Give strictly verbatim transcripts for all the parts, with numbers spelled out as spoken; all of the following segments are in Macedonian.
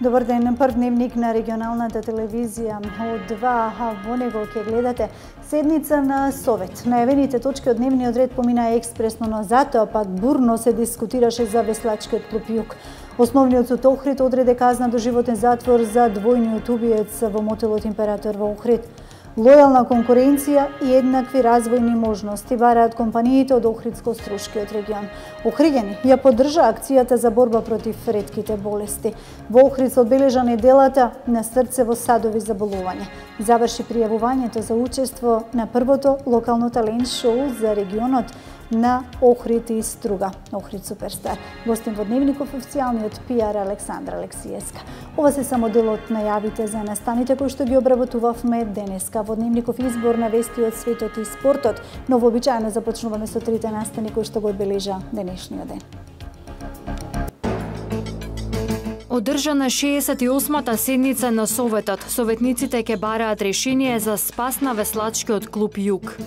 Добар ден, прв дневник на регионалната телевизија од два, а во него ќе гледате седница на Совет. Најавените точки од дневниот ред помина експресно, но затоа пак бурно се дискутираше за веслачкиот клуб Југ. Основниот суд Охрид одреде казна до животен затвор за двојниот убиец во мотелот Император во Охрид. Лојална конкуренција и еднакви развојни можности бараат компаниите од Охридско-Струшкиот регион. Охриѓани ја поддржа акцијата за борба против ретките болести. Во Охрид се одбележа неделата на срцево-садови заболувања. Заврши пријавувањето за учество на првото локално талент шоу за регионот на Охрид и Струга, Охрид Суперстар. Гостин во дневников официјалниот пиар Александра Алексиевска. Ова се само дел од најавите за настаните кои што ги обработувавме денеска во дневников избор на вести од светот и спортот, но вообичаено започнуваме со трите настани кои што го одбележа денешниот ден. Одржана шеесет и осмата седница на Советот. Советниците ќе бараат решение за спас на веслачкиот клуб Југ.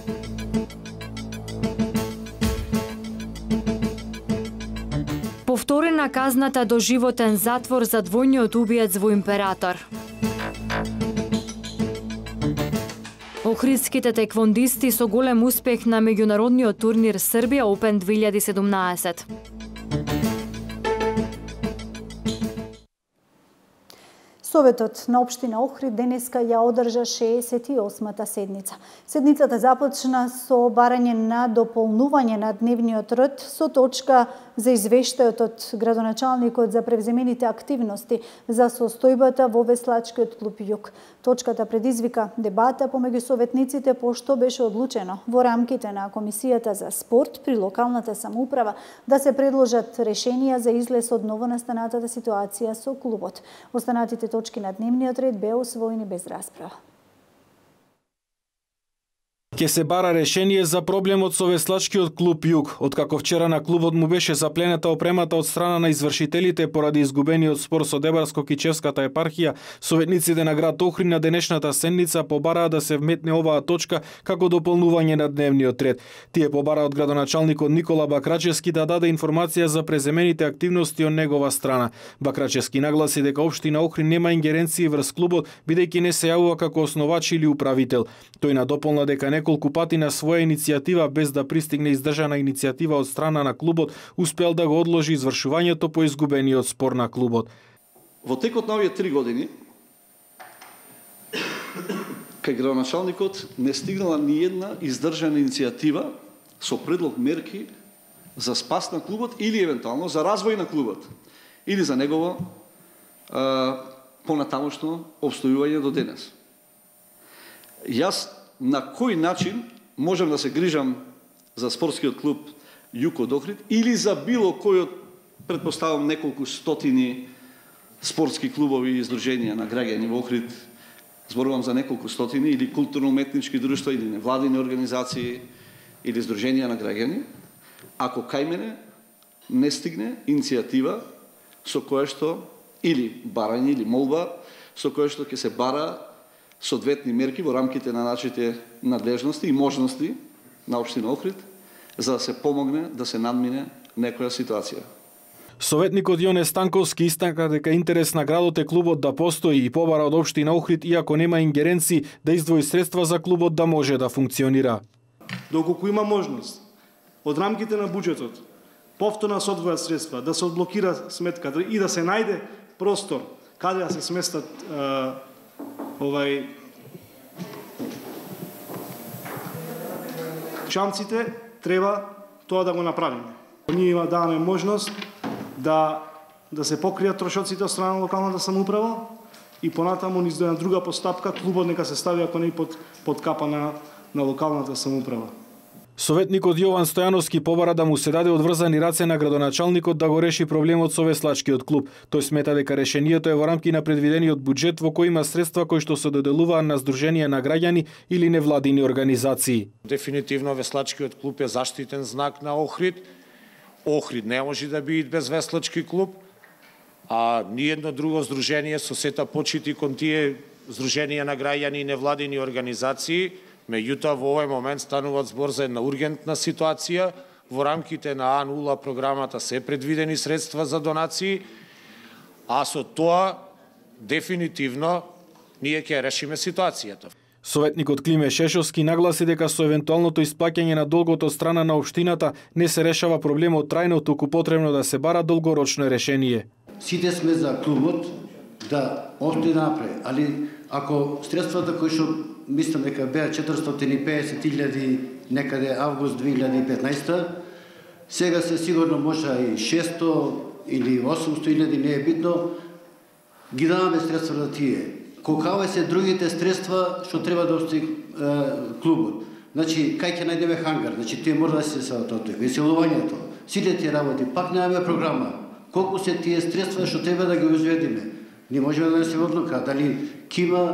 Повторена казната до животен затвор за двојниот убиец во Император. Охридските теквондисти со голем успех на меѓународниот турнир Србија Опен две илјади и седумнаесет. Советот на општина Охрид денеска ја одржа шеесет и осмата седница. Седницата започна со барање на дополнување на дневниот ред со точка за извештајот од градоначалникот за превземените активности за состојбата во веслачкиот клуб Југ. Точката предизвика дебата помеѓу советниците пошто беше одлучено во рамките на Комисијата за спорт при локалната самоуправа да се предложат решенија за излез од новонастанатата ситуација со клубот. Останатите точки на дневниот ред беа усвоени без расправа. Ке се бара решение за проблемот со веслачкиот клуб Југ, откако вчера на клубот му беше заплената опремата од страна на извршителите поради изгубениот спор со Дебарско-Кичевската епархија. Советниците на град Охрид на денешната седница побараа да се вметне оваа точка како дополнување на дневниот ред. Тие побараа од градоначалникот Никола Бакрачевски да даде информација за преземените активности од негова страна. Бакрачевски нагласи дека општина Охрид нема ингеренции врз клубот, бидејќи не се јавува како основач или управител. Тој надополна дека неколку пати на своја иницијатива, без да пристигне издржана иницијатива од страна на клубот, успел да го одложи извршувањето по изгубениот спор на клубот. Во текот на овие три години, кај градоначалникот не стигнала ни една издржана иницијатива со предлог мерки за спас на клубот или евентуално за развој на клубот или за негово а, понатамошно обстојување до денес. Јас на кој начин можам да се грижам за спортскиот клуб Југ од Охрид или за било кој од, предпоставам, неколку стотини спортски клубови и издруженија на граѓани во Охрид, зборувам за неколку стотини, или културно-уметнички друштва, или невладини организации, или издруженија на граѓани, ако кај мене не стигне иницијатива со која што, или барање, или молба, со која што ќе се бара соодветни мерки во рамките на нашите надлежности и можности на општина Охрид за да се помогне да се надмине некоја ситуација. Советникот Јоне Станковски истакна дека интерес на градот е клубот да постои и побара од општина Охрид, иако нема ингеренции, да издвои средства за клубот да може да функционира. Доколку има можност од рамките на буџетот повторно се одвојат средства, да се одблокира сметката и да се најде простор каде да се сместат овај чамците, треба тоа да го направиме. Ние има даваме можност да да се покријат трошоците од страна на локалната самоуправа и понатаму низ една друга постапка клубот нека се стави ако не под под капа на на локалната самоуправа. Советникот Јован Стојановски побара да му се даде одврзани раце на градоначалникот да го реши проблемот со веслачкиот клуб. Тој смета дека решението е во рамки на предвидениот буџет во кој има средства кои што се доделуваат на здруженија на граѓани или невладини организации. Дефинитивно веслачкиот клуб е заштитен знак на Охрид. Охрид не може да биде без веслачки клуб, а ниедно друго здружение со сета почити кон тие здруженија на граѓани и невладини организации. Меѓутоа, во овој момент станува збор за една ургентна ситуација. Во рамките на А нула програмата се предвидени средства за донации, а со тоа дефинитивно ние ќе решиме ситуацијата. Советникот Климе Шешовски нагласи дека со евентуалното исплаќање на долгот од страна на општината не се решава проблемот трајно, туку потребно да се бара долгорочно решение. Сите сме за клубот да още напред, али ако средствата кои што мислам дека беа четиристотини и педесет илјади некаде август две илјади и петнаесета, сега се сигурно може и шесто или осумсто илјади, не е битно, ги даваме средства за тие. Колкава се другите средства што треба да остави клубот. Значи, кај ќе најдеме хангар, значи тие мора да се се тоа, веселувањето, сите тие работи, пак немаме програма. Колку се тие средства што треба да ги изведиме? Не можеме да се одлука дали ќе има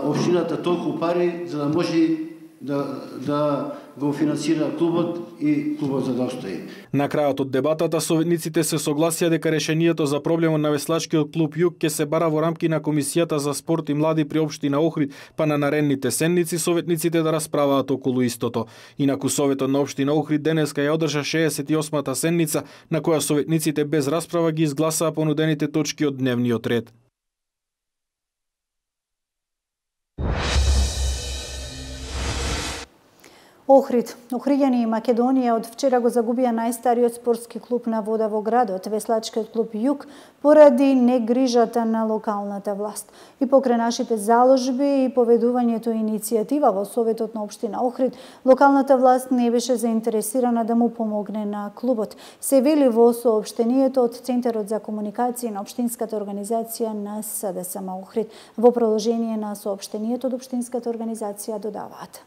општината толку пари за да може да, да го финансира клубот и клубот за да остои. На крајот од дебатата советниците се согласија дека решението за проблемот на веслачкиот клуб Југ ќе се бара во рамки на Комисијата за спорт и млади при општина Охрид, па на наредните седници советниците да расправаат околу истото. Инаку Советот на општина Охрид денеска ја одржа шеесет и осмата седница, на која советниците без расправа ги изгласаа понудените точки од дневниот ред. Охрид, Охриѓани и Македонија од вчера го загубија најстариот спортски клуб на вода во градот, веслачкиот клуб Југ, поради негрижата на локалната власт. И покрај нашите заложби и поведувањето иницијатива во Советот на општина Охрид, локалната власт не беше заинтересирана да му помогне на клубот. Се вели во соопштението од Центарот за комуникација на општинската организација на СДСМ Охрид. Во продолжение на соопштението од општинската организација додаваат: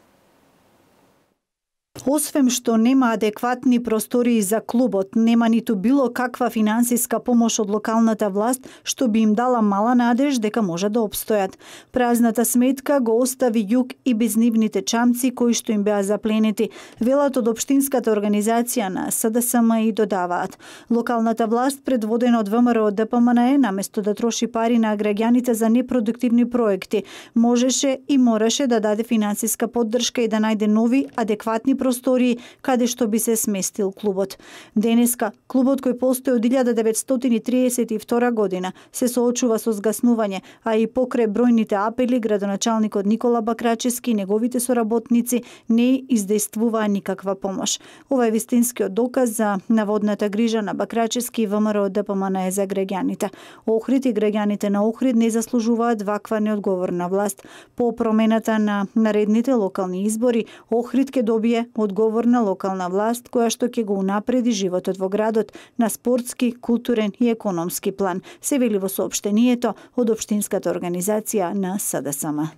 освен што нема адекватни простории за клубот, нема ниту било каква финансиска помош од локалната власт што би им дала мала надеж дека може да опстојат. Празната сметка го остави Југ и без нивните чамци кои што им беа запленети, велат од општинската организација на СДСМ и додаваат: локалната власт предводена од ВМРО ДПМНЕ наместо да троши пари на граѓаните за непродуктивни проекти, можеше и мораше да даде финансиска поддршка и да најде нови адекватни простории каде што би се сместил клубот. Денеска, клубот кој постои од илјада деветстотини триесет и втора година се соочува со згаснување, а и покрај бројните апели, градоначалникот Никола Бакрачевски и неговите соработници не издействуваа никаква помош. Ова е вистинскиот доказ за наводната грижа на Бакрачевски и ВМРО ДПМНЕ за граѓаните. Охрид и граѓаните на Охрид не заслужуваат ваква неодговорна власт. По промената на наредните локални избори, Охрид ќе добие одговорна локална власт која што ќе го унапреди животот во градот на спортски, културен и економски план, се вели во соопштението од општинската организација на СДСМ.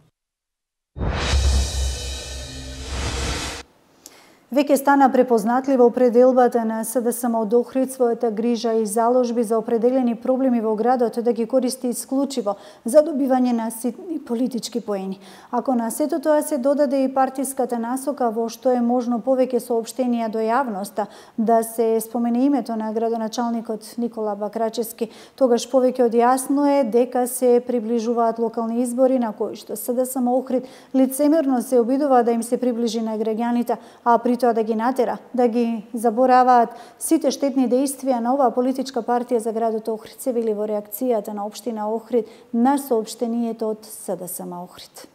Веќе стана препознатлива определбата на СДСМ од Охрид својата грижа и заложби за определени проблеми во градот да ги користи исклучиво за добивање на ситни политички поени. Ако на сето тоа се додаде и партиската насока во што е можно повеќе соопштенија до јавноста да се спомене името на градоначалникот Никола Бакрачевски, тогаш повеќе од јасно е дека се приближуваат локални избори на кои што СДСМ Охрид лицемерно се обидува да им се приближи на граѓаните, а при тоа да ги натера, да ги забораваат сите штетни дејствија на оваа политичка партија за градот Охрид, се вели во реакцијата на општина Охрид на соопштението од СДСМ Охрид.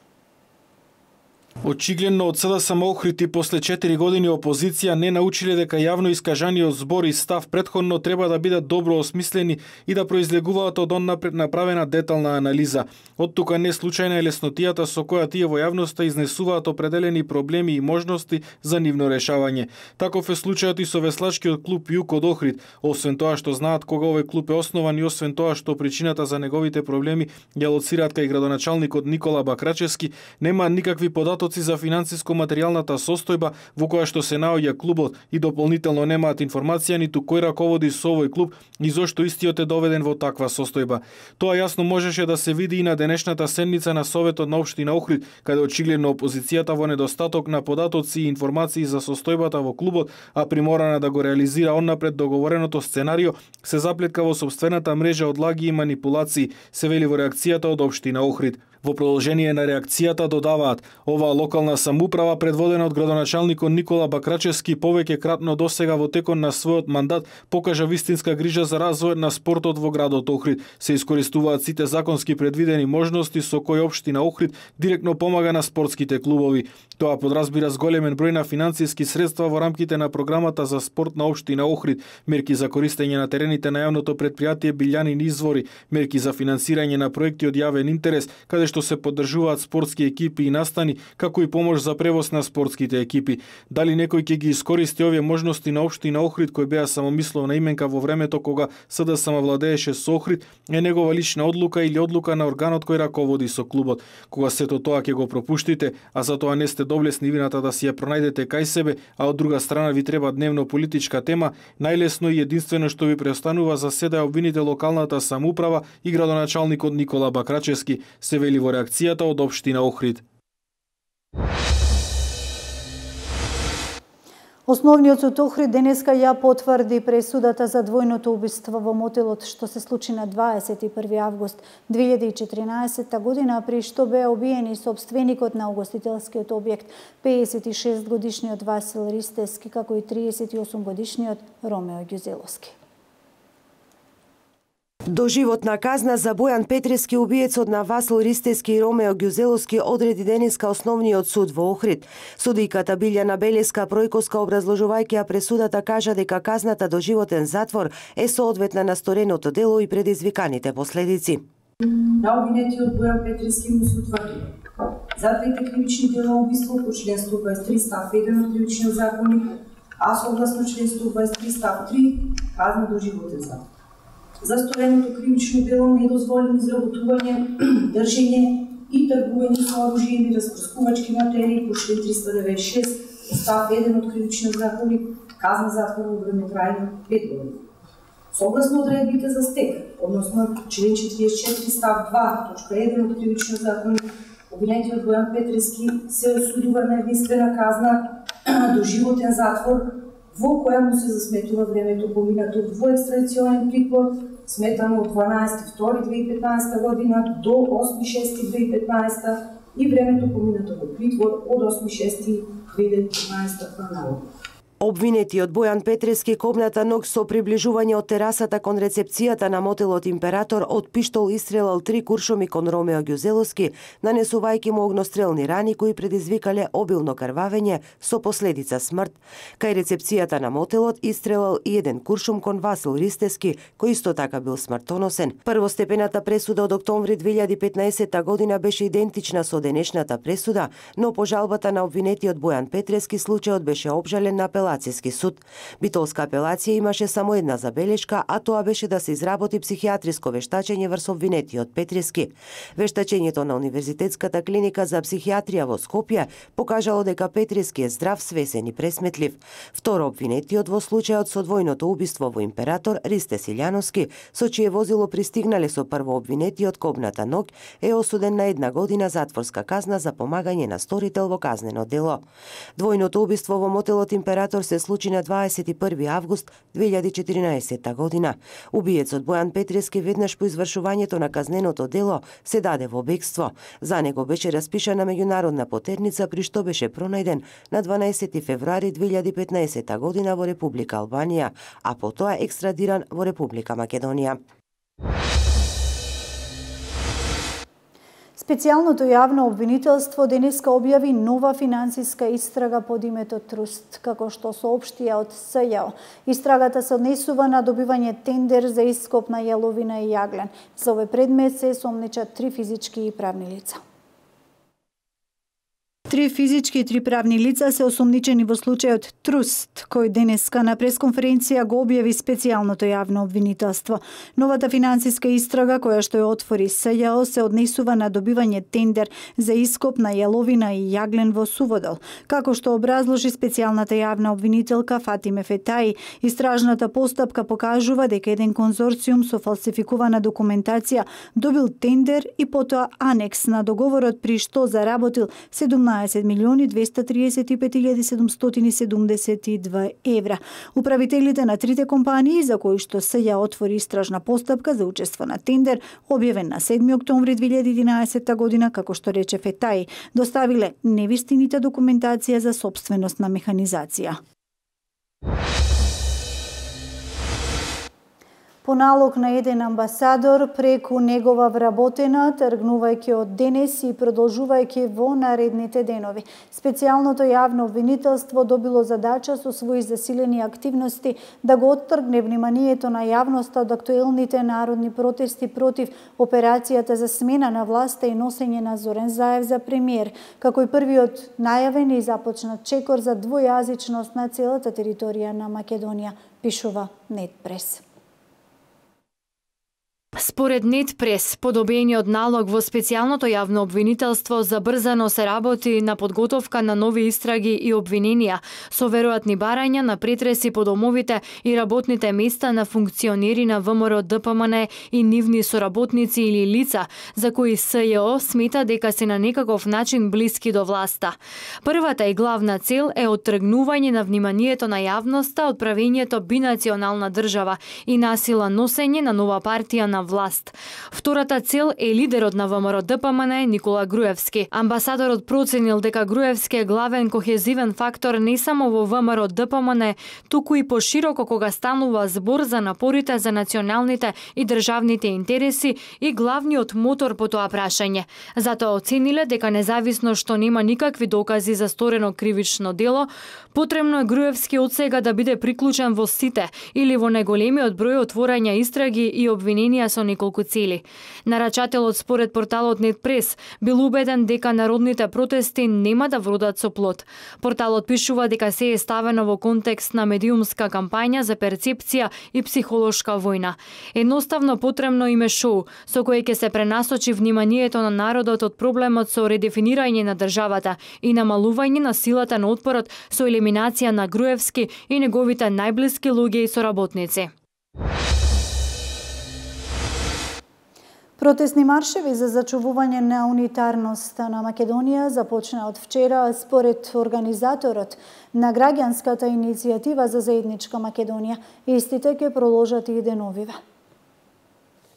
Очигледно од СДСМ Охрид и после четири години опозиција не научиле дека јавно искажаниот збор и став претходно треба да бидат добро осмислени и да произлегуваат од оннапред направена детална анализа. Од тука не случајна е леснотијата со која тие во јавноста изнесуваат определени проблеми и можности за нивно решавање. Таков е случајот и со веслачкиот клуб Југ од Охрид. Освен тоа што знаат кога овој клуб е основан и освен тоа што причината за неговите проблеми ја лоцираат кај градоначалникот Никола Бакрачевски, нема никакви податоци за финансиско-материјалната состојба во која што се наоѓа клубот и дополнително немаат информација ниту кој раководи со овој клуб и зошто истиот е доведен во таква состојба. Тоа јасно можеше да се види и на денешната седница на Советот на општина Охрид, каде очигледно опозицијата во недостаток на податоци и информации за состојбата во клубот, а приморана да го реализира оннапред договореното сценарио, се заплетка во сопствената мрежа од лаги и манипулации, се вели во реакцијата од општина Охрид. Во продолжение на реакцијата додаваат, оваа локална самоуправа предводена од градоначалникот Никола Бакрачевски повеќе кратно досега во текот на својот мандат покажа вистинска грижа за развојот на спортот во градот Охрид. Се искористуваат сите законски предвидени можности со кои општина Охрид директно помага на спортските клубови. Тоа подразбира зголемен број на финансиски средства во рамките на програмата за спорт на општина Охрид, мерки за користење на терените на јавното претпријатие Билјанин извори, мерки за финансирање на проекти од јавен интерес, каде што се поддржуваат спортски екипи и настани, како и помош за превоз на спортските екипи. Дали некој ќе ги искористи овие можности на општина Охрид кој беа самомисловна именка во времето кога СДСМ владееше со Охрид, е негова лична одлука или одлука на органот кој раководи со клубот. Кога сето тоа ќе го пропуштите, а за тоа не сте доблесни вината да си ја пронајдете кај себе, а од друга страна ви треба дневно политичка тема, најлесно и единствено што ви преостанува за седа е обвините локалната самоуправа и градоначалникот Никола Бакрачевски, се вели во реакцијата од општина Охрид. Основниот суд Охрид денеска ја потврди пресудата за двојното убиство во мотелот што се случи на дваесет и први август две илјади и четиринаесетта година, при што беа убиени сопственикот на угостителскиот објект пеесет и шест годишниот Васил Ристевски, како и триесет и осум годишниот Ромео Ѓузеловски. Доживотна казна за Бојан Петрески, убиецот на Васил Ристевски и Ромео Ѓузеловски, одреди денеска основниот суд во Охрид. Судијката Билјана Белеска Пројковска, образложувајќи ја пресудата, кажа дека казната доживотен затвор е соодветна на стореното дело и предизвиканите последици. На обвинетиот Бојан Петрески му се утврди за двете кривични дела убиство по член сто дваесет и три став еден од кривичниот законник, а согласно член сто дваесет и три став три казна доживотен затвор. За стореното кривично дело недозволено изработување, држење и тргување со оружје или распрскувачки материи по член триста деветдесет и шест став еден од кривичниот законник, казна затвор во време трајно пет години. Согласно одредбите за стек, односно член четириесет и четири став два точка еден од кривичниот законник, обвинетиот Бојан Петрески се осудува на единствена казна доживотен затвор, во која му се засметува времето поминато во екстрадиционен притвор, сметано од дванаесети втори две илјади и петнаесета година до осми шести две илјади и петнаесета и времето поминато во притвор од осми шести две илјади и петнаесета па. Обвинетиот Бојан Петрески копната ног со приближување од терасата кон рецепцијата на мотелот Император од пиштол истрелал три куршуми кон Ромео Ѓузеловски, нанесувајќи му огнострелни рани кои предизвикале обилно крвавење со последица смрт. Кај рецепцијата на мотелот истрелал и еден куршум кон Васил Ристевски, кој исто така бил смртоносен. Првостепената пресуда од октомври две илјади и петнаесетта година беше идентична со денешната пресуда, но по жалбата на обвинетиот Бојан Петрески случајот беше обжален на апелацијски суд. Битолска апелација имаше само една забелешка, а тоа беше да се изработи психијатриско вештачење врз обвинетиот Петрески. Вештачењето на Универзитетската клиника за психијатрија во Скопје покажало дека Петрески е здрав, свесен и пресметлив. Второ обвинетиот во случајот со двојното убиство во Император, Ристе Силјановски, со чие возило пристигнале со прво обвинетиот копната ног, е осуден на една година затворска казна за помагање на сторител во казнено дело. Двојното убиство во мотелот Император се случи на дваесет и први август две илјади и четиринаесетта година. Убиецот Бојан Петрески веднаш по извршувањето на казненото дело се даде во бегство. За него беше распишана меѓународна потерница, при што беше пронајден на дванаесети февруари две илјади и петнаесетта година во Република Албанија, а потоа екстрадиран во Република Македонија. Специјалното јавно обвинителство денеска објави нова финансиска истрага под името Труст, како што соопштија од СЈО. Истрагата се однесува на добивање тендер за ископ на јаловина и јаглен. За овој предмет се сомнечат три физички и правни лица. Три физички и три правни лица се осомничени во случајот Труст, кој денеска на пресконференција го објави специјалното јавно обвинителство. Новата финансиска истрага, која што ја отвори СЈО, се однесува на добивање тендер за ископ на јаловина и јаглен во Суводол. Како што образложи специјалната јавна обвинителка Фатиме Фетаи, истражната постапка покажува дека еден конзорциум со фалсификувана документација добил тендер и потоа анекс на договорот, при што заработил седумнаесет единаесет милиони двеста триесет и пет илјади седумстотини и седумдесет и две евра. Управителите на трите компании за кои што СЈ отвори истражна постапка за учество на тендер, објавен на седми октомври две илјади и единаесетта година, како што рече Фетај, доставиле невистинита документација за сопственост на механизација. По налог на еден амбасадор, преку негова вработена, тргнувајќи од денес и продолжувајќи во наредните денови. Специјалното јавно обвинителство добило задача со своји засилени активности да го оттргне вниманието на јавноста од актуелните народни протести против операцијата за смена на власта и носење на Зорен Заев за премиер, како и првиот најавен и започнат чекор за двојазичност на целата територија на Македонија, пишува Нетпрес. Според Нетпрес, подобениот налог во специјалното јавно обвинителство забрзано се работи на подготовка на нови истраги и обвиненија со веројатни барања на претреси по домовите и работните места на функционери на ВМРО Д П М Н и нивни соработници или лица за кои СЈО смета дека се на некаков начин блиски до власта. Првата и главна цел е оттргнување на вниманието на јавноста од правењето бинационална држава и насила носење на нова партија на власт. Втората цел е лидерот на ВМРО Д П М Н Никола Груевски. Амбасадорот проценил дека Груевски е главен кохезивен фактор не само во ВМРО Д П М Н, туку и пошироко кога станува збор за напорите за националните и државните интереси и главниот мотор по тоа прашање. Затоа оцениле дека независно што нема никакви докази за сторено кривично дело, потребно е Груевски од сега да биде приклучен во сите или во најголемиот број отворања истраги и обвиненија со неколку цели. Нарачателот според порталот Нетпрес бил убеден дека народните протести нема да вродат со плод. Порталот пишува дека се е ставено во контекст на медиумска кампања за перцепција и психолошка војна. Едноставно потребно име шоу со кој ќе се пренасочи вниманието на народот од проблемот со редефинирање на државата и намалување на силата на отпорот со елиминација на Груевски и неговите најблиски луѓе и соработници. Протестни маршеви за зачувување на унитарноста на Македонија започна од вчера според организаторот на граѓанската иницијатива за заедничка Македонија. Истите ќе продолжат и деновиве.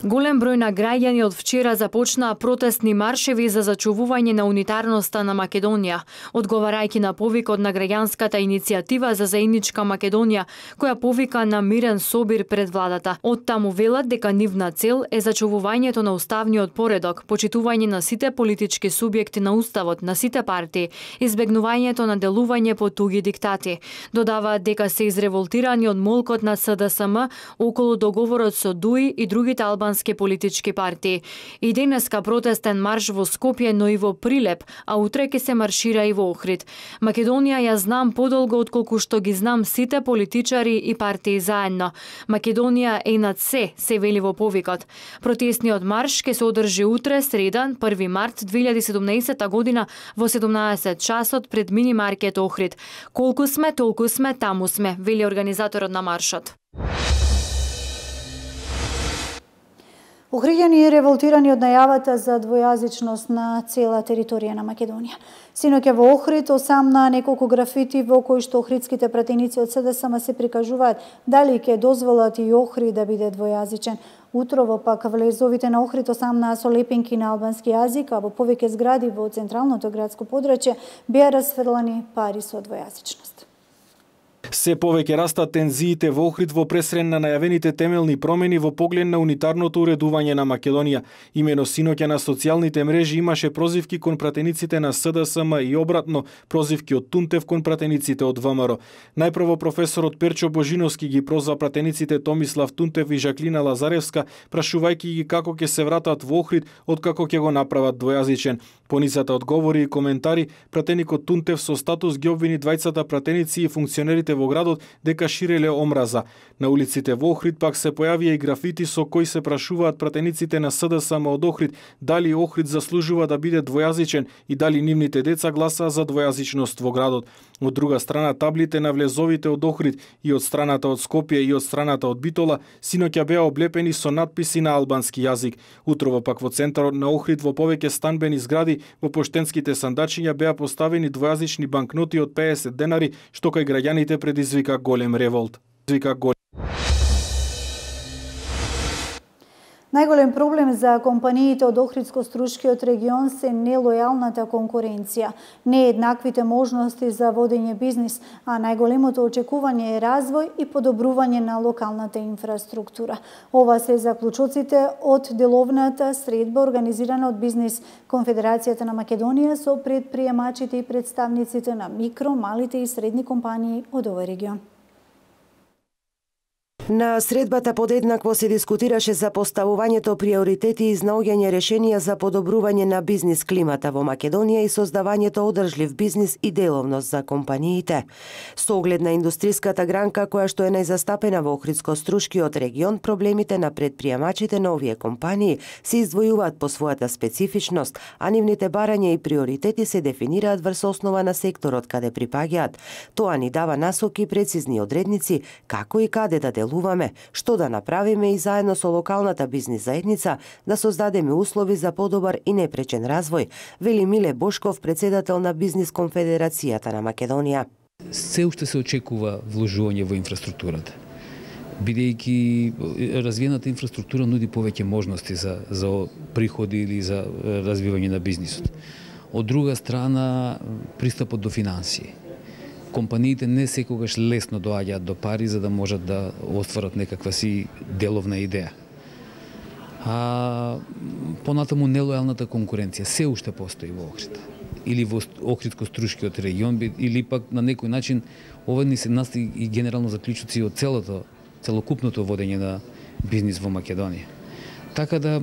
Голем број на граѓани од вчера започнаа протестни маршеви за зачувување на унитарноста на Македонија, одговарајќи на повикот на граѓанската иницијатива за заедничка Македонија, која повика на мирен собир пред владата. Од таму велат дека нивна цел е зачувувањето на уставниот поредок, почитување на сите политички субјекти на уставот, на сите партии, избегнувањето на делување по туги диктати. Додаваат дека се изреволтирани од молкот на С Д С М околу договорот со Д У И и другите албански политички партии. И денеска протестен марш во Скопје, но и во Прилеп, а утре ќе се маршира и во Охрид. Македонија ја знам подолго отколку што ги знам сите политичари и партии заедно. Македонија е над се, се вели во повикот. Протестниот марш ќе се одржи утре, среда, први март две илјади и седумнаесетта година во седумнаесет часот пред мини маркет Охрид. Колку сме, толку сме, таму сме, вели организаторот на маршот. Охриѓани и револтирани од најавата за двојазичност на цела територија на Македонија. Синоќа во Охрид осамна неколку графити во кои што охридските пратеници од С Д С М се прикажуваат дали ќе дозволат и Охрид да биде двојазичен. Утрово пак влезовите на Охрид осамнаа со лепенки на албански јазик, а во повеќе згради во централното градско подрачје беа расфрлани пари со двојазичност. Се повеќе растат тензиите во Охрид во пресрен на најавените темелни промени во поглед на унитарното уредување на Македонија. Имено синоќа на социјалните мрежи имаше прозивки кон пратениците на С Д С М и обратно прозивки од Тунтев кон пратениците од В М Р. Најпрво професорот Перчо Божиновски ги прозва пратениците Томислав Тунтев и Жаклина Лазаревска, прашувајќи ги како ќе се вратат во Охрид откако ќе го направат двојазичен. По низата одговори и коментари, пратеникот Тунтев со статус ги обвини двајцата пратеници и функционерите во во градот дека ширеле омраза. На улиците во Охрид пак се појавија и графити со кои се прашуваат пратениците на СДСМ од Охрид дали Охрид заслужува да биде двојазичен и дали нивните деца гласаа за двојазичност во градот. Од друга страна, таблите на влезовите од Охрид и од страната од Скопје и од страната од Битола синоќа беа облепени со надписи на албански јазик. Утрово пак во центарот на Охрид во повеќе станбени згради во поштенските сандачиња беа поставени двојазични банкноти од педесет денари, што кај граѓаните предизвика голем револт. Предизвика голем Најголем проблем за компаниите од Охридско-Струшкиот регион се нелојалната конкуренција, нееднаквите можности за водење бизнис, а најголемото очекување е развој и подобрување на локалната инфраструктура. Ова се заклучоците од деловната средба организирана од Бизнис Конфедерацијата на Македонија со предприемачите и представниците на микро, малите и средни компании од овој регион. На средбата подеднакво се дискутираше за поставувањето приоритети и изнаоѓање решенија за подобрување на бизнис климата во Македонија и создавањето одржлив бизнис и деловност за компаниите. Со оглед на индустриската гранка која што е најзастапена во Охридско-Струшкиот регион, проблемите на предприемачите на овие компании се издвојуваат по својата специфичност, а нивните барања и приоритети се дефинираат врз основа на секторот каде припаѓаат. Тоа ни дава насоки и прецизни одредници како и каде да делуваме, што да направиме и заедно со локалната бизнис заедница да создадеме услови за подобар и непречен развој, вели Миле Бошков, председател на Бизнис Конфедерацијата на Македонија. Се уште се очекува вложување во инфраструктурата, бидејќи развиената инфраструктура нуди повеќе можности за, за приходи или за развивање на бизнисот. Од друга страна, пристапот до финансии. Компаниите не секогаш лесно доаѓаат до пари за да можат да остварат некаква си деловна идеја. А понатаму нелојалната конкуренција се уште постои во Охрид или во Охридско-Струшкиот регион, или пак на некој начин ова ни се настои и генерално заклучоци од целото целокупното водење на бизнис во Македонија. Така да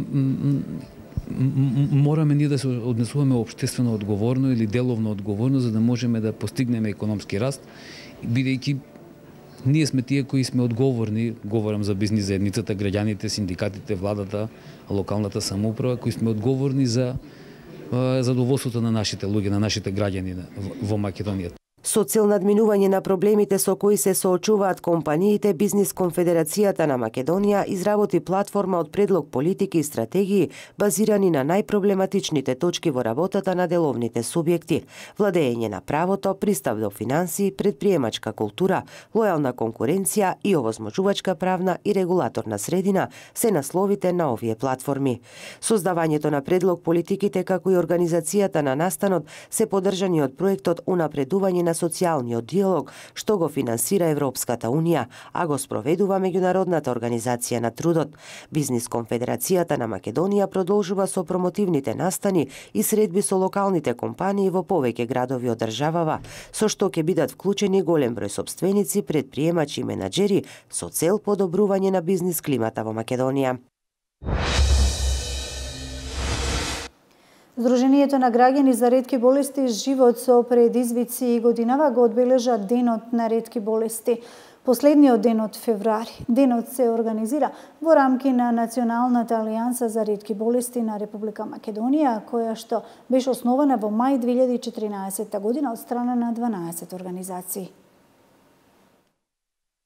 мораме ние да се однесуваме општествено одговорно или деловно одговорно за да можеме да постигнеме економски раст, бидејќи ние сме тие кои сме одговорни, говорам за бизнис заедницата, граѓаните, синдикатите, владата, локалната самоуправа, кои сме одговорни за задоволството на нашите луѓе, на нашите граѓани во Македонија. Со цел надминување на проблемите со кои се соочуваат компаниите, Бизнис Конфедерацијата на Македонија изработи платформа од предлог политики и стратегии базирани на најпроблематичните точки во работата на деловните субјекти: владење на правото, пристап до финансии, предприемачка култура, лојална конкуренција и овозможувачка правна и регулаторна средина се насловите на овие платформи. Создавањето на предлог политиките како и организацијата на настанот се поддржани од проектот Унапредување на социјалниот диалог, што го финансира Европската Унија, а го спроведува Меѓународната организација на трудот. Бизнис Конфедерацијата на Македонија продолжува со промотивните настани и средби со локалните компании во повеќе градови од државава, со што ќе бидат вклучени голем број сопственици, предприемачи и менаџери со цел подобрување на бизнис климата во Македонија. Сдруженијето на граѓани за ретки болести Живот со предизвици и годинава го одбележа Денот на ретки болести. Последниот ден од февруари. Денот се организира во рамки на Националната алијанса за ретки болести на Република Македонија, која што беше основана во мај две илјади и четиринаесетта година од страна на дванаесет организации.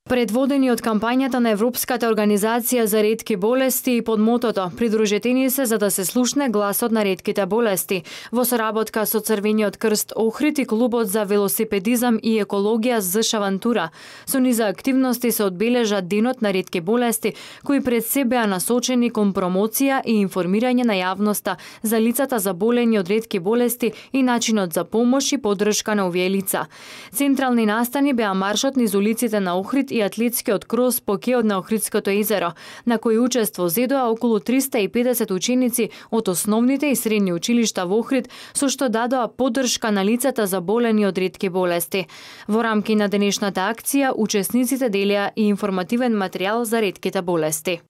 Предводени од кампањата на Европската организација за ретки болести и под мотото "Придружете ни се за да се слушне гласот на ретките болести", во соработка со Црвениот крст Охрид и клубот за велосипедизам и екологија ЗШ Авантура, со низа активности се одбележа Денот на ретки болести, кои пред се беа насочени кон промоција и информирање на јавноста за лицата заболени од ретки болести и начинот за помош и поддршка на овие лица. Централни настани беа маршот низ улиците на Охрид и атлетскиот крос по кеот на Охридското езеро, на кој учество зедоа околу триста и педесет ученици од основните и средни училишта во Охрид, со што дадоа поддршка на лицата заболени од ретки болести. Во рамки на денешната акција, учесниците делеа и информативен материјал за ретките болести.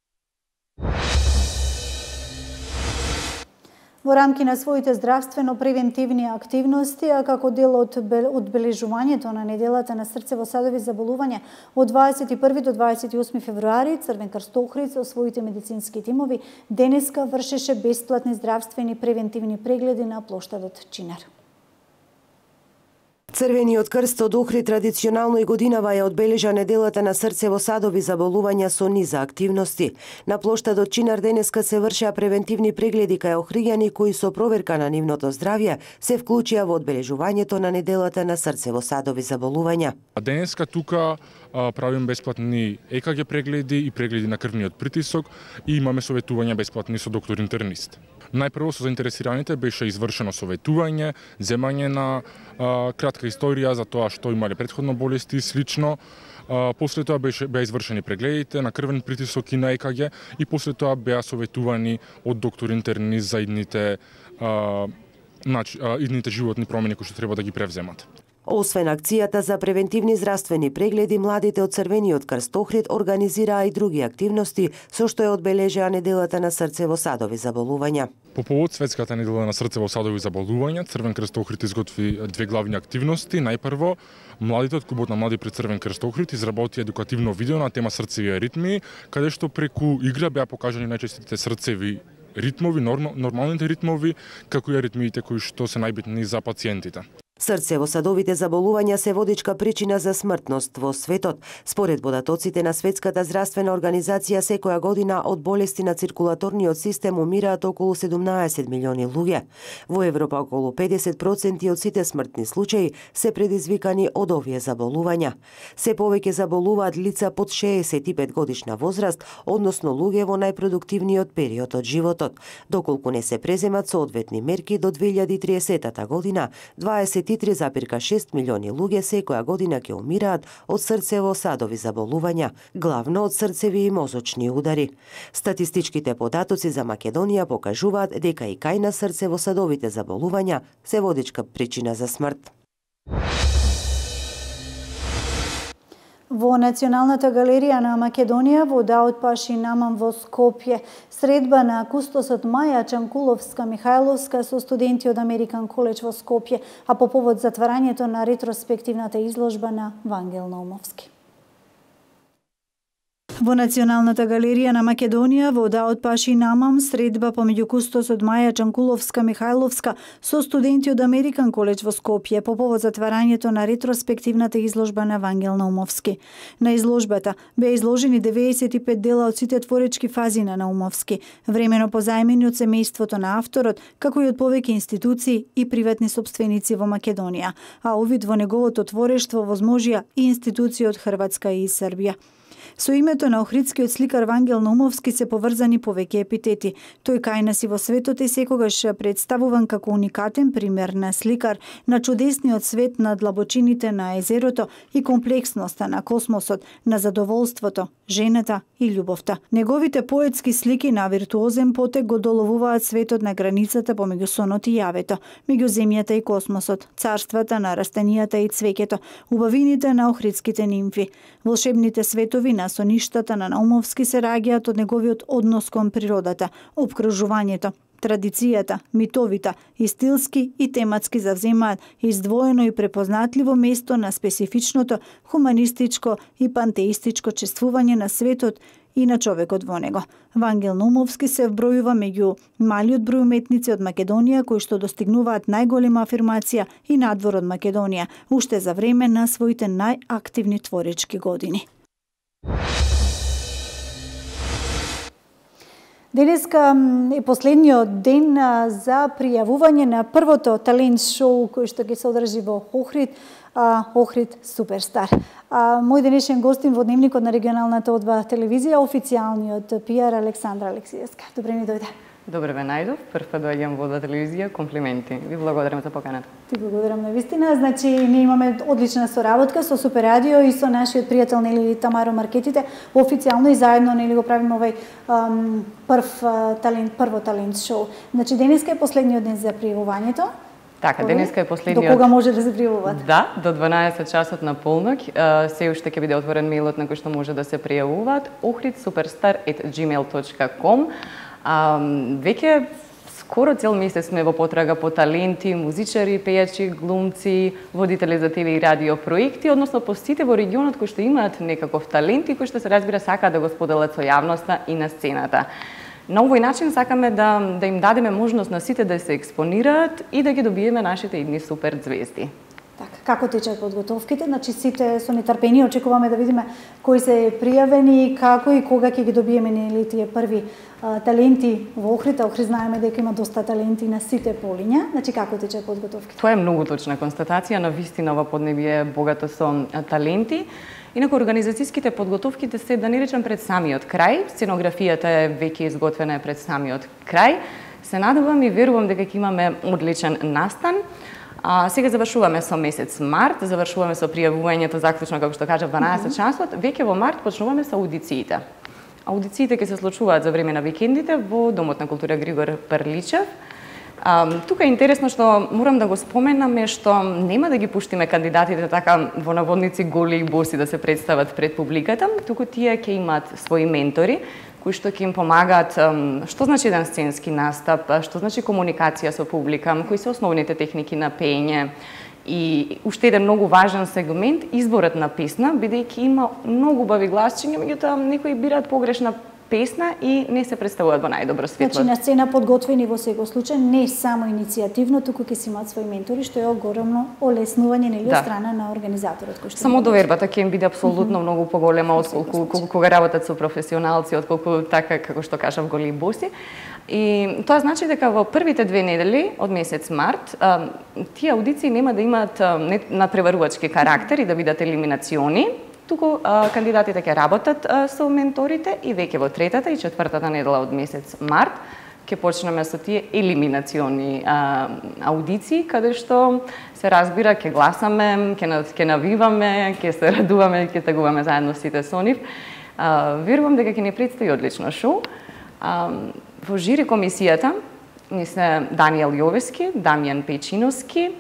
Во рамки на своите здравствено-превентивни активности, а како дел од одбележувањето на неделата на срцево-садови заболувања од дваесет и први до дваесет и осми февруари, Црвен крст Охрид со своите медицински тимови денеска вршеше бесплатни здравствени превентивни прегледи на плоштадот Чинар. Црвениот крст од Охрид традиционално и годинава ја одбележа неделата на срцево-садови заболувања со низа активности. На плоштадот Чинар денеска се вршеа превентивни прегледи кај охриѓани кои со проверка на нивното здравје се вклучија во одбележувањето на неделата на срцево-садови заболувања. Денеска тука а, правим бесплатни е ка ге прегледи и прегледи на крвниот притисок и имаме советувања бесплатни со доктор интернист. Најпрво со заинтересираните беше извршено советување, земање на а, кратка историја за тоа што имале претходно болести и слично. А, после тоа беше беа извршени прегледите на крвен притисок и на е ка ге и после тоа беа советувани од доктор интернист за идните а, нач, а, идните животни промени кои што треба да ги превземат. Освен акцијата за превентивни здравствени прегледи, младите од Црвениот крст Охрид организираа и други активности со што ја одбележаа неделата на срцево-садови заболувања. По повод светската недела на срцево-садови заболувања, Црвен крст Охрид изготви две главни активности. Најпрво, младите од клубот на млади при Црвен крст Охрид изработи едукативно видео на тема срцеви ритми, каде што преку игра беа покажани најчестите срцеви ритмови, нормалните ритмови, како и аритмиите кои што се најбитни за пациентите. Срцево-садовите заболувања се водичка причина за смртност во светот. Според податоците на Светската здравствена организација, секоја година од болести на циркулаторниот систем умираат околу седумнаесет милиони луѓе. Во Европа околу педесет проценти од сите смртни случаи се предизвикани од овие заболувања. Се повеќе заболуваат лица под шеесет и пет годишна возраст, односно луѓе во најпродуктивниот период од животот. Доколку не се преземат соодветни мерки, до две илјади и триесета година дваесет и три зарез и шест милиони луѓе секоја година ќе умираат од срцево-садови заболувања, главно од срцеви и мозочни удари. Статистичките податоци за Македонија покажуваат дека и кај на срцево-садовите заболувања се водичка причина за смрт. Во Националната галерија на Македонија во Даот Паши Намам во Скопје средба на кустосот Маја Чанкуловска-Михајловска со студенти од Американ коледж во Скопје, а по повод затварањето на ретроспективната изложба на Вангел Наумовски. Во Националната галерија на Македонија во Даот Паши Намам средба помеѓу кустосот Маја Чанкуловска-Михајловска со студенти од Американ коледж во Скопје по повод затварањето на ретроспективната изложба на Вангел Наумовски. На изложбата беа изложени деветдесет и пет дела од сите творечки фази на Наумовски, времено позајмени од семејството на авторот, како и од повеќе институции и приватни сопственици во Македонија, а увид во неговото творештво возможија и институции од Хрватска и Србија. Со името на охридскиот сликар Вангел Наумовски се поврзани повеќе епитети. Тој кај нас и во светот е секогаш представуван како уникатен пример на сликар на чудесниот свет на длабочините на езерото и комплексноста на космосот, на задоволството, жената и љубовта. Неговите поетски слики на виртуозен потек го доловуваат светот на границата помеѓу сонот и јавето, меѓу земјата и космосот, царствата на растенијата и цвеќето, убавините на охридските нимфи. Волшебните светови на соништата на Наумовски се раѓаат од неговиот однос кон природата, опкружувањето, традицијата, митовите и стилски и тематски завземаат издвоено и препознатливо место на специфичното хуманистичко и пантеистичко чествување на светот и на човекот во него. Вангел Наумовски се вбројува меѓу малиот број уметници од Македонија кои што достигнуваат најголема афирмација и надвор од Македонија, уште за време на своите најактивни творечки години. Денеска е последниот ден за пријавување на првото талент шоу кој што ќе се одржи во Охрид, Охрид Суперстар. Мој денешен гостин во дневникот на регионалната О два телевизија, официјалниот пиар Александра Алексиевска. Добре ми дојде. Добре ве најдов, прв пат доаѓам во О два телевизија, комплименти. Ви благодарам за поканата. Ти благодарам на вистина. Значи, ние имаме одлична соработка со Супер Радио и со нашиот пријател нели Тамаро Маркетите. Официјално и заедно нели го правиме овој ам, прв талент, прво талент шоу. Значи, денеска е последниот ден за пријавувањето. Така, денеска е последниот. До кога може да се пријавуваат? Да, до дванаесет часот на полноќ. Се уште ќе биде отворен мејлот на кој што може да се пријавуваат. охрид суперстар ет џимејл точка ком. А, веќе Скоро цел месец сме во потрага по таленти, музичари, пејачи, глумци, водители за Т В и радио проекти, односно по сите во регионот кои што имаат некаков талент и кои што се разбира сака да го споделат со јавноста и на сцената. На овој начин сакаме да, да им дадеме можност на сите да се експонираат и да ги добиеме нашите идни супер звезди. Така, како течат подготовките? Значи сите со нетрпение очекуваме да видиме кои се пријавени, како и кога ќе ги добиеме нели тие први а, таленти во Охрид. Охрид знаеме дека има доста таленти на сите полиња. Значи како течат подготовките? Тоа е многу точна констатација, на вистина ова поднебие е богато со таленти. Инаку организацијските подготовки се, да не речам, пред самиот крај. Сценографијата е веќе изготвена пред самиот крај. Се надевам и верувам дека ќе имаме одличен настан. А, сега завршуваме со месец март, завршуваме со пријавувањето заклучно, како што кажа, дванаесет часот. Веќе во март почнуваме со аудициите. Аудициите ќе се случуваат за време на викендите во Домот на култура Григор Прличев. А, тука е интересно што морам да го споменаме што нема да ги пуштиме кандидатите така во наводници голи и боси да се представат пред публиката, туку тие ќе имаат своји ментори кои што ќе им помагаат што значи еден сценски настап, што значи комуникација со публика, кои се основните техники на пеење и уште еден многу важен сегмент изборот на песна, бидејќи има многу убави гласчиња, меѓутоа некои бираат погрешна песна и не се представуваат во најдобро светло. Значи на сцена подготвени во секој случај, не само иницијативно, туку ќе си имаат своји ментори, што е огромно олеснување нели од страна на организаторот кој што само довербата ќе им биде апсолутно mm -hmm. многу поголема отколку кога работат со професионалци, отколку така како што кажав голи боси. И тоа значи дека во првите две недели од месец март тие аудиции нема да имаат надпреварувачки карактер и да бидат елиминациони, туку а, кандидатите ќе работат а, со менторите и веќе во третата и четвртата недела од месец март ќе почнеме со тие елиминациони а, аудиции, каде што се разбира ќе гласаме, ќе ќе навиваме, ќе се радуваме, ќе тагуваме заедно сите со нив. А, верувам дека ќе ни предстои одлично шоу. А, во жири комисијата ни се Даниел Јовески, Дамјан Пејчиновски,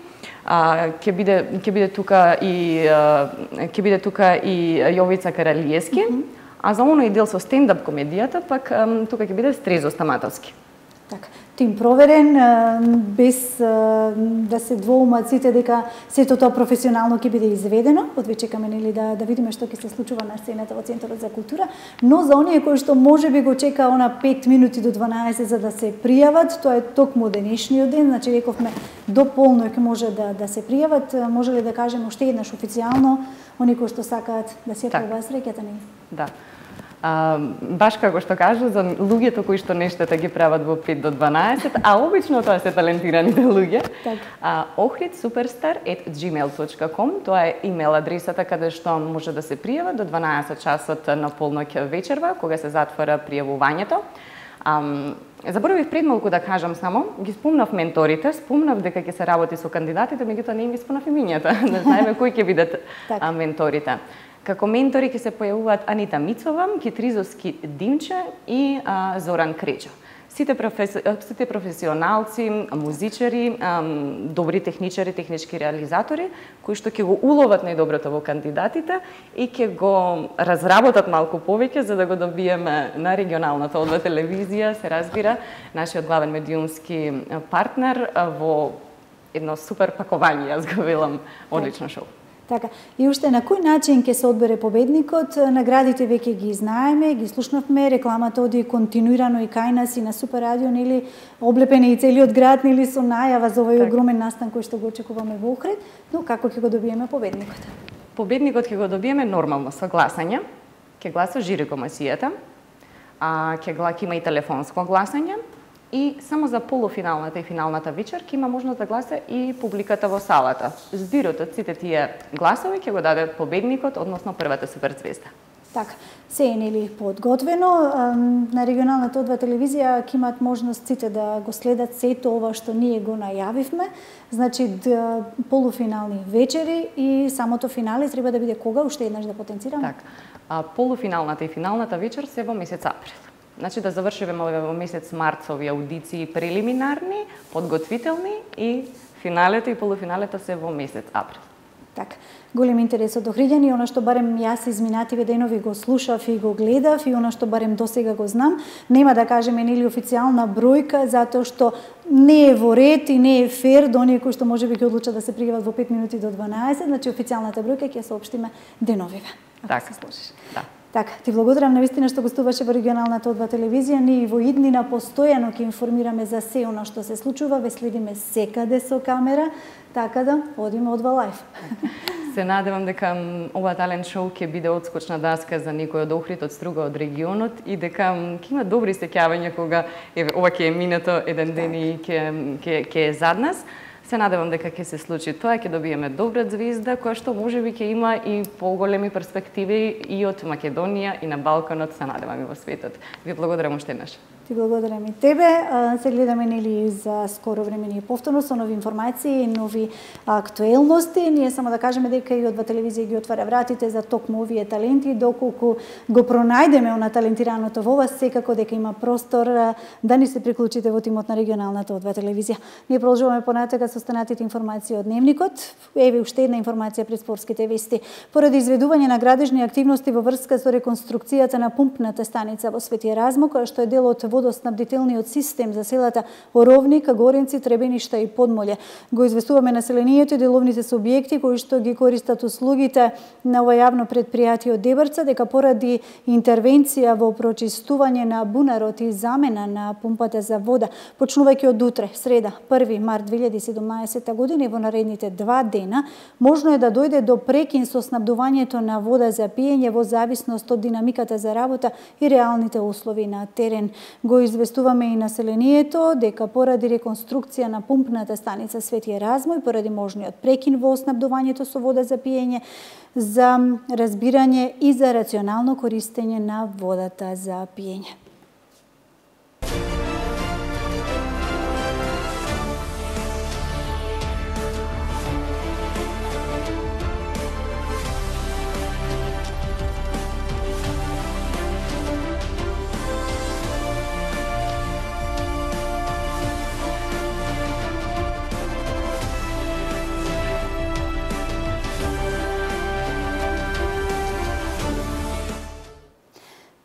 А, ќе биде ќе биде тука и а, ќе биде тука и Јовица Каралиевски, mm -hmm. а за оној дел со стендап комедијата пак а, тука ќе биде Стрезо Стаматовски. Така, тим проверен, без да се двоумат сите дека сето тоа професионално ќе биде изведено. Одве чекаме нели да да видиме што ќе се случува на сцената во Центарот за култура, но за оние кои што можеби го чека она пет минути до дванаесет за да се пријават, тоа е токму денешниот ден, значи рековме до полноќ може да да се пријават. Може ли да кажеме уште еднаш официјално оние кои што сакаат да се пробаат среќата нели? Да. А, баш како што кажа, за луѓето кои што нештата ги прават во пет до дванаесет, а обично тоа се талентираните луѓе. А, охрид суперстар ет џимејл точка ком, тоа е имейл адресата каде што може да се пријава до дванаесет часот на полноќ вечерва, кога се затвора пријавувањето. А, заборавив пред малку да кажам само, ги спомнав менторите, спомнав дека ќе се работи со кандидатите, меѓутоа не им ги спомнав имињата, не знаеме кои ќе бидат а, менторите. Како ментори ќе се појавуваат Анита Мицова, Китризовски Димче и а, Зоран Кречо. Сите, професи... сите професионалци, музичари, а, добри техничари, технички реализатори, кои што ќе го уловат најдоброто во кандидатите и ќе го разработат малку повеќе за да го добиеме на регионалната одва телевизија, се разбира, нашиот главен медиумски партнер во едно супер пакување, јас го велам, одлично шоу. Така, и уште на кој начин ќе се одбере победникот? Наградите веќе ги знаеме, ги слушнавме, рекламата оди континуирано и кај нас и на Супер радио, нели, облепени и целиот град, нели, со најава за овој огромен настан кој што го очекуваме во Охрид, но како ќе го добиеме победникот? Победникот ќе го добиеме нормално со гласање, ќе гласа жири комисијата, а ќе ќе има и телефонско гласање, и само за полуфиналната и финалната вечер ќе има можност да гласа и публиката во салата. Збирот од сите тие гласови ќе го даде победникот, односно првата суперзвезда. Така, се е нели подготвено. На регионалната одва телевизија ќе имаат можност сите да го следат сето ова што ние го најавивме. Значи полуфинални вечери и самото финале треба да биде кога, уште еднаш да потенцираме? Така. А полуфиналната и финалната вечер се во месец април. Значи да завршиме во месец март со овие аудиции прелиминарни, подготвителни и финалето и полуфиналето се во месец април. Така, голем интерес од Охриѓани, она што барем јас изминативе денови го слушав и го гледав и она што барем досега го знам, нема да кажеме нели официјална бројка, затоа што не е во ред и не е фер до оние кои што можеби ќе одлучат да се пријават во пет минути до дванаесет, значи официјалната бројка ќе ја соопштиме деновиве. Така се сложиш. Да. Така, ти благодарам навистина што гостуваше во регионалната О два телевизија. Ние во иднина постојано ќе информираме за се она што се случува, ве следиме секаде со камера, така да одиме О два лайф. Се надевам дека ова талент шоу ќе биде одскочна даска за некој од Охрид, од Струга, од регионот и дека ќе има добри сеќавања кога еве ова ќе е минато еден ден и ќе ќе ќе е зад нас. Се надевам дека ќе се случи тоа, ќе добиеме добра звезда која што можеби ќе има и поголеми перспективи и од Македонија и на Балканот, се надевам и во светот. Ви благодарам уште еднаш. Ти благодарам и тебе. Се гледаме нели за скоро време ние повторно со нови информации и нови актуелности. Ние само да кажеме дека и О два телевизија ги отвара вратите за токму овие таленти, доколку го пронајдеме она талентираното во вас, секако дека има простор да ни се приклучите во тимот на регионалната О два телевизија. Ние продолжуваме понатака со останатите информации од дневникот. Еве уште една информација пред спортските вести. Поради изведување на градежни активности во врска со реконструкцијата на пумпната станица во Свети Еразмо, која што е дел од водоснабдителниот систем за селата Оровник, Горенци, Требеништа и Подмоле. Го известуваме населението и деловните субјекти кои што ги користат услугите на ова јавно предпријатие од Дебарца дека поради интервенција во прочистување на бунарот и замена на пумпата за вода, почнувајќи од утре, среда, први март две илјади и седумнаесета година и во наредните два дена, можно е да дојде до прекин со снабдувањето на вода за пиење во зависност од динамиката за работа и реалните услови на терен. Го известуваме и населението дека поради реконструкција на пумпната станица Свети Еразмо и поради можниот прекин во снабдувањето со вода за пиење, за разбирање и за рационално користење на водата за пиење.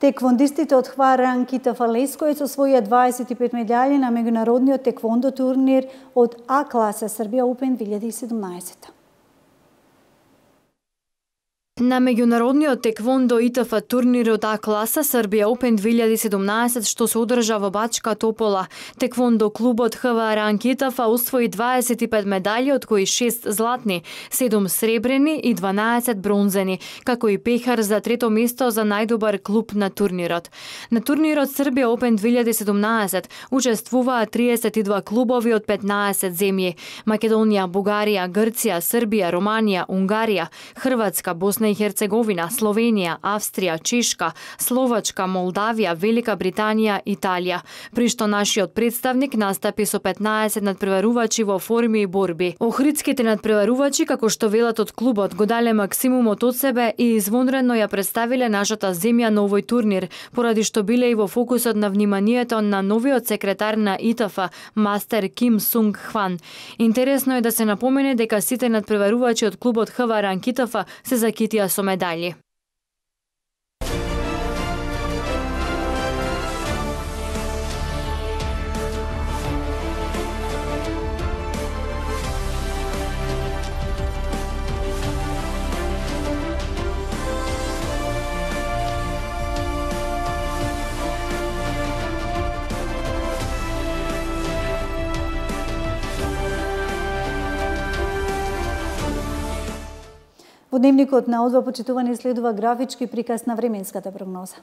Теквондистите од Хвар Анкита Фалескојец освоија дваесет и пет медали на меѓународниот теквондо турнир од А класа Србија Опен две илјади и седумнаесета. На меѓународниот теквондо И Т Ф турнирот А класа Србија Опен две илјади и седумнаесет што се одржа во Бачка Топола, теквондо клубот Х В Р Анки И Т Ф освои дваесет и пет медали, од кои шест златни, седум сребрени и дванаесет бронзени, како и пехар за трето место за најдобар клуб на турнирот. На турнирот Србија Опен две илјади и седумнаесет учествуваат триесет и два клубови од петнаесет земји: Македонија, Бугарија, Грција, Србија, Романија, Унгарија, Хрватска, Босна и Херцеговина, Словенија, Австрија, Чешка, Словачка, Молдавија, Велика Британија, Италија. При што нашиот представник настапи со петнаесет надпреварувачи во форми и борби. Охридските надпреварувачи, како што велат од клубот, го дале максимумот од себе и извонредно ја представиле нашата земја на овој турнир, поради што биле и во фокусот на вниманието на новиот секретар на И Т Ф, мастер Ким Сунг Хван. Интересно е да се напомене дека сите надпреварувачи од клубот Х В Р Анки И Т Ф се закитија со медали. Во дневникот на О два почитувани следува графички приказ на временската прогноза.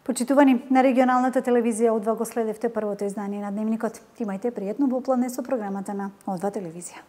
Почитувани, на регионалната телевизија О два го следевте првото издание на Дневникот. Имајте пријатно попладне со програмата на О два телевизија.